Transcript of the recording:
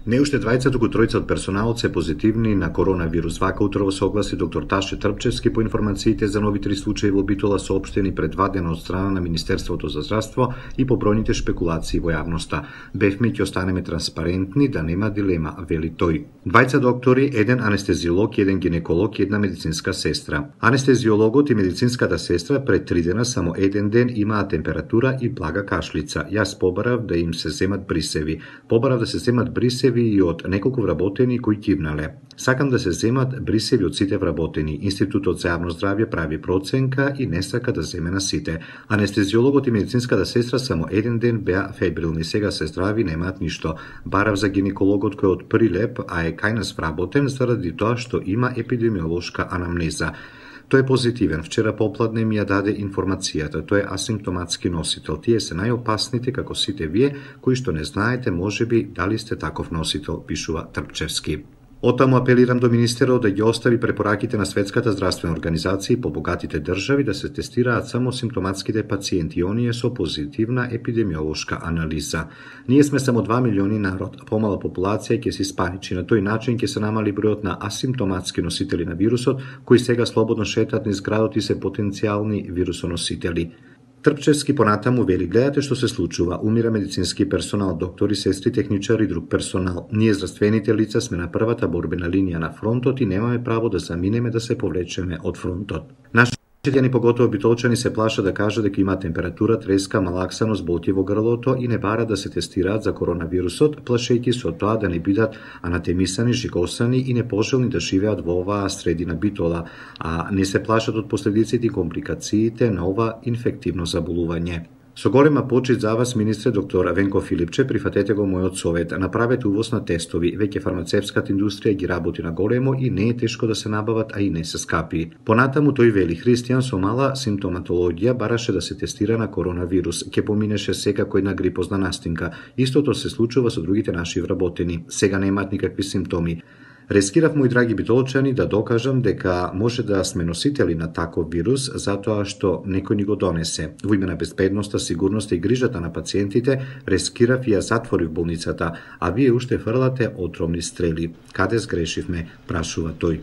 Не уште двајца, туку тројца од персоналот се позитивни на коронавирус. Вака утрово се огласи доктор Таше Трпчевски по информациите за нови 3 случаи во Битола соопштени пред 2 дена од страна на Министерството за здравство и по бројните шпекулации во јавноста. Бевме ќе останеме транспарентни, да нема дилема, вели тој. Двајца доктори, еден анестезиолог, еден гинеколог и една медицинска сестра. Анестезиологот и медицинската сестра пред 3 дена само еден ден имаа температура и блага кашлица. Јас побарав да им се земат брисеви. Побарав да се земат брисеви и од неколку вработени кои кивнале. Сакам да се земат брисеви од сите вработени. Институтот за јавно здравје прави проценка и не сака да земе на сите. Анестезиологот и медицинската сестра само еден ден беа фебрилни, сега се здрави, немаат ништо. Барав за гинекологот кој од Прилеп, а е кај нас вработен заради тоа што има епидемиолошка анамнеза. Тој е позитивен. Вчера попладне ми ја даде информацијата. Тој е асимптоматски носител. Тие се најопасните, како сите вие, кои што не знаете, можеби, дали сте таков носител, пишува Трпчевски. Отаму апелирам до министерот да ги остави препораките на Светската здравствена организација по богатите држави да се тестираат само симптоматските пациенти и оние со позитивна епидемиолошка анализа. Ние сме само 2 милиони народ, помала популација ќе се испаничи. На тој начин ќе се намали бројот на асимптоматски носители на вирусот, кои сега слободно шетаат низ градот и се потенцијални вирусоносители. Трпчевски понатаму вели, гледате што се случува, умира медицински персонал, доктори, сестри, техничари и друг персонал. Ние здравствените лица сме на првата борбена линија на фронтот и немаме право да заминеме да се повлечеме од фронтот. Нашите поготово битолчани се плаша да кажа дека има температура, треска, малаксаност, болки во грлото и не бара да се тестираат за коронавирусот, плашејќи со тоа да не бидат анатемисани, жигосани и непожелни да живеат во оваа средина Битола, а не се плашат од последиците и компликациите на ова инфективно заболување. Со голема почит за вас, министре доктор Венко Филипче, прифатете го мојот совет. Направете увоз на тестови. Веќе фармацевската индустрија ги работи на големо и не е тешко да се набават, а и не се скапи. Понатаму тој вели, Христијан со мала симптоматологија бараше да се тестира на коронавирус. Ке поминеше секако една грипозна настинка. Истото се случува со другите наши вработени. Сега немаат никакви симптоми. Рескирав, мои драги битолчани, да докажам дека може да сме носители на таков вирус затоа што некој ни го донесе. Во име на безбедноста, сигурноста и грижата на пациентите, рескирав и ја затворив болницата, а вие уште фрлате отровни стрели. Каде сгрешивме, прашува тој.